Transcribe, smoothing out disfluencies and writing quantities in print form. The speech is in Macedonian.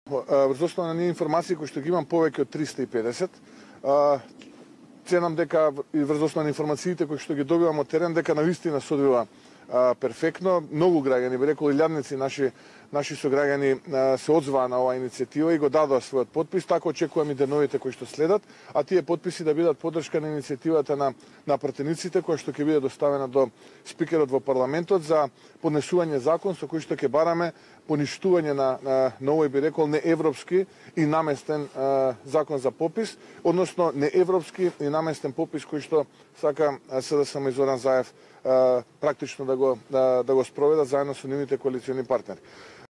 Врз основа на ние информации кои што ги имам повеќе од 350, ценам дека и врз основа на информациите кои што ги добивам од терен дека навистина се одвива перфектно. Многу граѓани, би рекол илјадници наши сограѓани се одзваа на оваа иницијатива и го дадоа својот подпис, така очекувам и деновите кои што следат, а тие подписи да бидат поддршка на иницијативата на пратениците која што ќе биде доставена до спикерот во парламентот за поднесување закон со кој што ќе бараме поништување на овој, би рекол, неевропски и наместен закон за попис, односно неевропски и наместен попис кој што сака СДСМ и Зоран Заев практично да го спроведат заедно со нивните коалициони партнери.